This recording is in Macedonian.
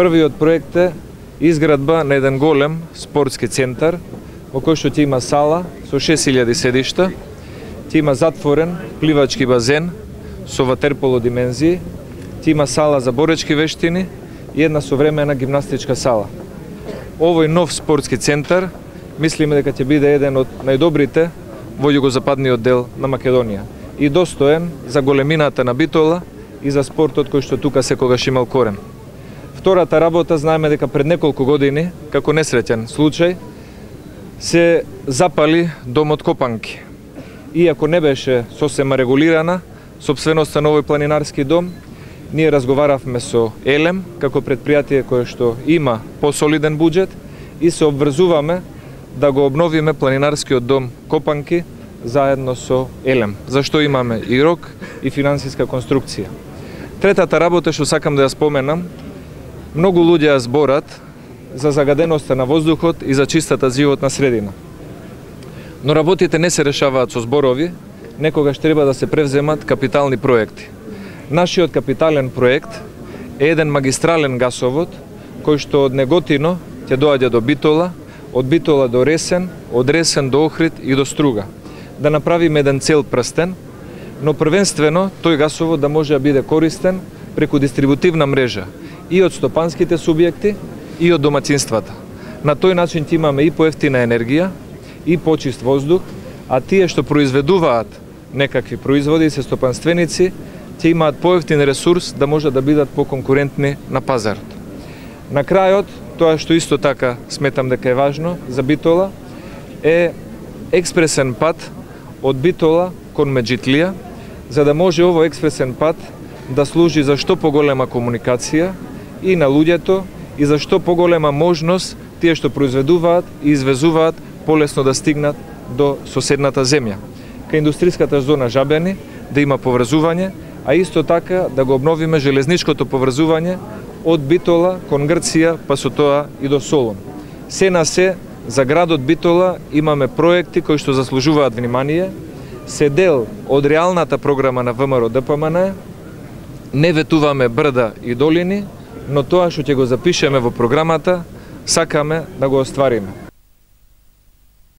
Првиот проект е изградба на еден голем спортски центар, во кој што ќе има сала со 6000 седишта, ќе има затворен пливачки базен со ватерполо димензии, ќе има сала за боречки вештини и една современа гимнастичка сала. Овој нов спортски центар мислиме дека ќе биде еден од најдобрите во југозападниот дел на Македонија и достоен за големината на Битола и за спортот кој што тука секогаш имал корен. Втората работа, знаеме дека пред неколку години, како несреќен случај, се запали домот Копанки. Иако не беше сосема регулирана сопственоста на овој планинарски дом, ние разговаравме со Елем, како предпријатие кое што има посолиден буџет и се обврзуваме да го обновиме планинарскиот дом Копанки заедно со Елем, зашто имаме и рок и финансиска конструкција. Третата работа што сакам да ја споменам, многу луѓе ја зборат за загаденоста на воздухот и за чистата животна средина. Но работите не се решаваат со зборови, некогаш треба да се превземат капитални проекти. Нашиот капитален проект е еден магистрален гасовод кој што од Неготино ќе доаѓа до Битола, од Битола до Ресен, од Ресен до Охрид и до Струга. Да направиме еден цел прстен, но првенствено тој гасовод да може да биде користен преку дистрибутивна мрежа и од стопанските субјекти и од домаќинствата. На тој начин ќе имаме и поевтина енергија и почист воздух, а тие што произведуваат некакви производи се стопанственици ќе имаат поевтин ресурс да може да бидат поконкурентни на пазарот. На крајот, тоа што исто така сметам дека е важно за Битола е експресен пат од Битола кон Меджитлија, за да може овој експресен пат да служи за што поголема комуникација и на луѓето и за што поголема можност тие што произведуваат и извезуваат полесно да стигнат до соседната земја. Кај индустријската зона Жабени да има поврзување, а исто така да го обновиме железничкото поврзување од Битола кон Грција, па со тоа и до Солун. Се на се, за градот Битола имаме проекти кои што заслужуваат внимание, се дел од реалната програма на ВМРО ДПМН, не ветуваме брда и долини, но тоа што ќе го запишеме во програмата, сакаме да го оствариме.